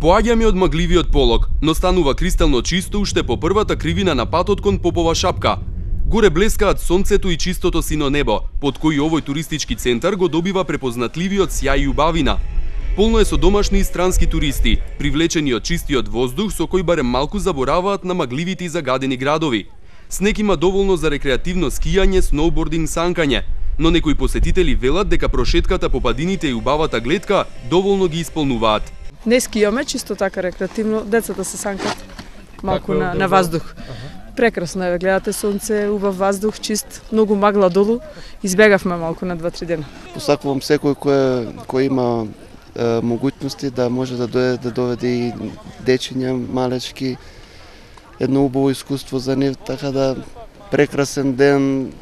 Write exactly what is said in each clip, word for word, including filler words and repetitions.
Поаѓаме од магливиот полог, но станува кристално чисто уште по првата кривина на патот кон Попова шапка. Горе блескаат сонцето и чистото сино небо, под кој овој туристички центар го добива препознатливиот сјај и убавина. Полно е со домашни и странски туристи, привлечени од чистиот воздух со кој барем малку забораваат на магливите и загадени градови. Снег има доволно за рекреативно скијање, сноубординг, санкање, но некои посетители велат дека прошетката по падините и убавата гледка доволно ги исполнуваат. Не скијаме, чисто така рекреативно, децата се санкат малку на, на воздух. Прекрасно е, гледате сонце, убав воздух, чист, многу магла долу, избегавме малку на два-три дена. Посакувам секој кој кој има е, могуćности да може да дојде да доведе и дечиња малечки, едно убаво искуство за нив, така да прекрасен ден,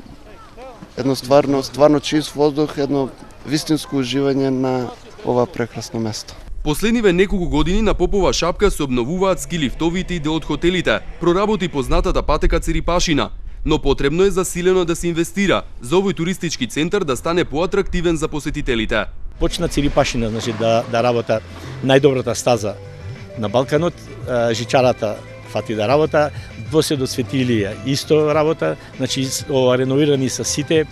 едно стварно, стварно чист воздух, едно вистинско уживање на ова прекрасно место. Последниве неколку години на Попова шапка се обновуваат ски лифтовите и дел од хотелите, проработи познатата патека Церипашина, но потребно е засилено да се инвестира за овој туристички центар да стане поатрактивен за посетителите. Почна Церипашина, значи да да работа најдобрата стаза на Балканот, жичарата фати да работа, доседо Светилија исто работа, значи ова реновирани се сите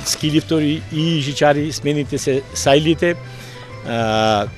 ски лифтори и жичари, смените се сајлите.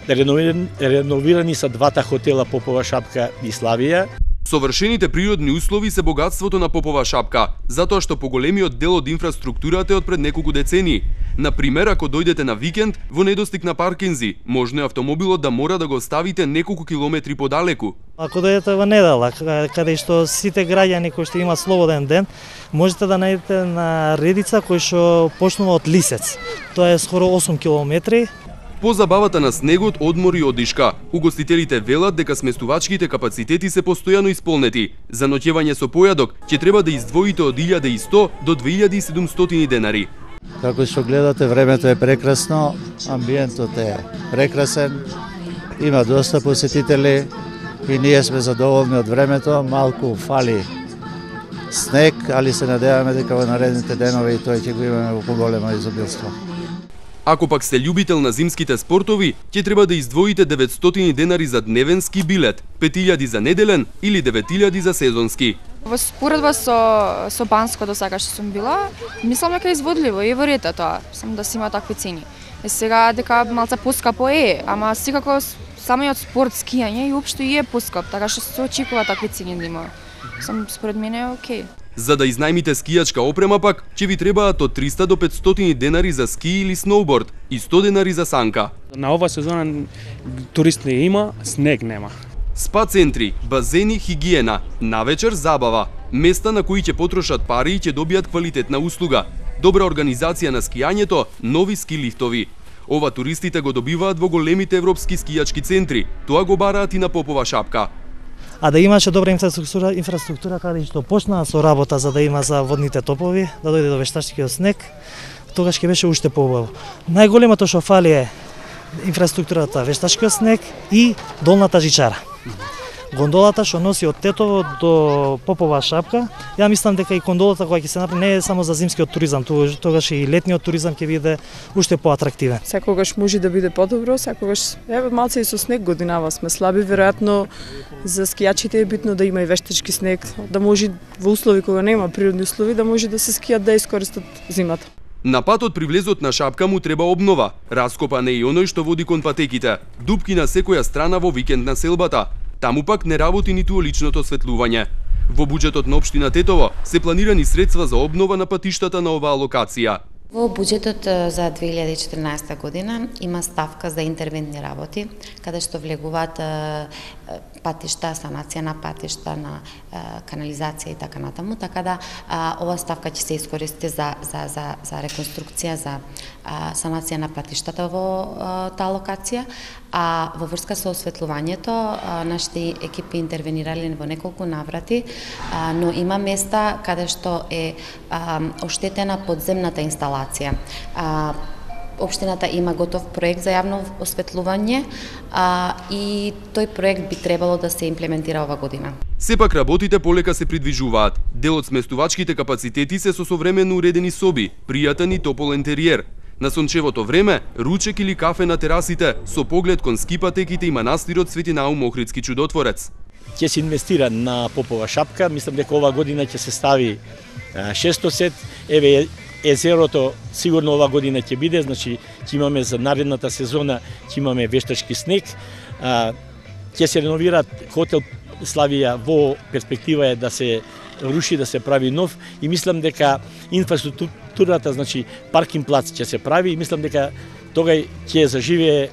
Реновирани, реновирани са двата хотела Попова шапка и Славија. Совршените природни услови се богатството на Попова шапка, затоа што поголемиот дел од инфраструктурата е од пред неколку децении. Например, ако дојдете на викенд во недостиг на паркинзи, можно е автомобилот да мора да го ставите неколку километри подалеку. Ако дојдете во недела, каде што сите граѓани кои што имаат слободен ден, можете да најдете на редица кој што почнува од Лисец. Тоа е скоро осум километри. По забавата на снегот, одмор и одишка, угостителите велат дека сместувачките капацитети се постојано исполнети. За ноќевање со појадок ќе треба да издвоите од илјада и сто до две илјади и седумстотини денари. Како што гледате, времето е прекрасно, амбиентот е прекрасен, има доста посетители и ние сме задоволни од времето, малку фали снег, али се надеваме дека во наредните денови тој ќе го имаме во поголемо изобилство. Ако пак сте љубител на зимските спортови, ќе треба да издвоите деветстотини денари за дневен ски билет, пет илјади за неделен или девет илјади за сезонски. Во споредба со со Банско до сега што сум била, мислам дека е изводливо и во ред тоа, само да си има такви цени. Е сега дека малце поскапо е, ама секако самиот спорт скијање и општо и е поскап, така што се очекува такви цени да има. Сам според мене е окей. За да изнајмите скијачка опрема пак, ќе ви требаат од триста до петстотини денари за ски или сноуборд и сто денари за санка. На ова сезона турист не има, снег нема. Спа центри, базени, хигиена, навечер забава, места на кои ќе потрошат пари и ќе добијат квалитетна услуга, добра организација на скијањето, нови ски лифтови. Ова туристите го добиваат во големите европски скијачки центри, тоа го бараат и на Попова шапка. А да имаше добра инфраструктура, инфраструктура каде што почнаа со работа за да има за водните топови, да дојде до вештачкиот снег, тогаш ќе беше уште поубаво. Најголемото што фали е инфраструктурата, вештачкиот снег и долната жичара. Гондолата што носи од Тетово до Попова шапка, ја мислам дека и гондолата која ќе се направи не е само за зимскиот туризам, тогаш и летниот туризам ќе биде уште поатрактивен. Секогаш може да биде подобро, секогаш еве малце и со снег годинава сме слаби, веројатно за скијачите е битно да има и вештачки снег, да може во услови кога нема природни услови да може да се скијат да искористат зимата. На патот при влезот на шапка му треба обнова. Раскопан е и оној што води кон патеките. Дупки на секоја страна во викенд на селбата. Таму пак не работи ниту уличното осветлување. Во буџетот на општина Тетово се планирани средства за обнова на патиштата на оваа локација. Во буџетот за две илјади и четрнаесетта година има ставка за интервентни работи, каде што влегуваат патишта, санација на патишта, на канализација и така натаму, така да ова ставка ќе се искористи за за за за реконструкција, за санација на патиштата во таа локација, а во врска со осветлувањето нашите екипи интервенирале во неколку наврати, но има места каде што е оштетена подземната инсталација. Општината има готов проект за јавно осветлување а, и тој проект би требало да се имплементира ова година. Сепак работите полека се придвижуваат. Дел од сместувачките капацитети се со современо уредени соби, пријатен и топол интериер. На сончевото време, ручек или кафе на терасите, со поглед кон скипатеките и манастирот Свети Наум Охридски чудотворец. Ќе се инвестира на Попова шапка, мислам дека ова година ќе се стави шестосет, еве езерото сигурно ова година ќе биде, значи ќе имаме за наредната сезона, ќе имаме вештачки снег, ќе се реновира хотел Славија, во перспектива е да се руши, да се прави нов и мислам дека инфраструктурата, значи паркинг плац ќе се прави и мислам дека тогај ќе заживее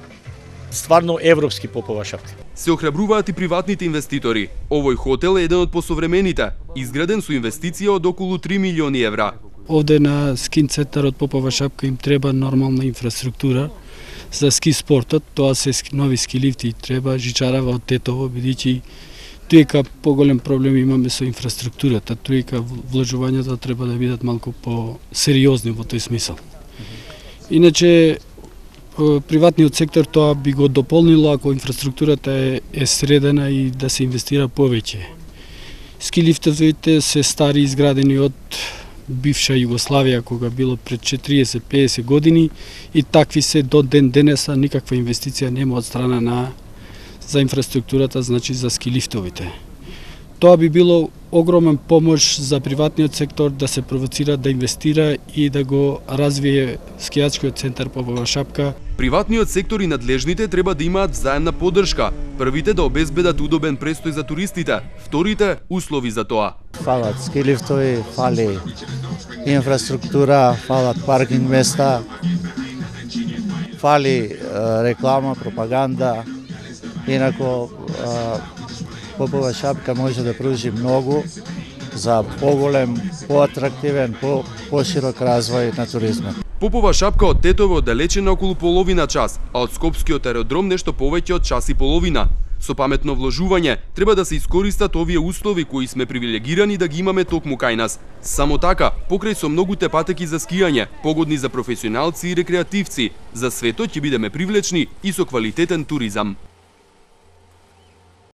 стварно европски Попова шапка. Се охрабруваат и приватните инвеститори. Овој хотел е еден од посовремените, изграден со инвестиција од околу три милиони евра. Овде на скин центарот Попова шапка им треба нормална инфраструктура за ски спортот, тоа се нови ски лифти, треба жичарава од Тетово, бидејќи тука поголем проблем имаме со инфраструктурата, тука вложувањата треба да бидат малку по-сериозни во тој смисол. Иначе приватниот сектор тоа би го дополнило ако инфраструктурата е, е средена и да се инвестира повеќе. Ски лифтовите се стари изградени од бивша Југославија кога било пред четириесет до педесет години и такви се до ден денеса, никаква инвестиција нема од страна на за инфраструктурата, значи за ски лифтовите. Тоа би било огромен помош за приватниот сектор да се провоцира да инвестира и да го развие скијачкиот центар Попова шапка. Приватниот сектор и надлежните треба да имаат взаемна поддршка. Првите да обезбедат удобен престој за туристите, вторите услови за тоа. Фалат ски лифтови, фали инфраструктура, фалат паркинг места, фали реклама, пропаганда. Инако Попова шапка може да пружи многу за поголем, поатрактивен, по поширок развој на туризмот. Попова шапка од Тетово оддалечена околу половина час, а од Скопскиот аеродром нешто повеќе од час и половина. Со паметно вложување треба да се искористат овие услови кои сме привилегирани да ги имаме токму кај нас. Само така, покрај со многуте патеки за скијање, погодни за професионалци и рекреативци, за светот ќе бидеме привлечни и со квалитетен туризам.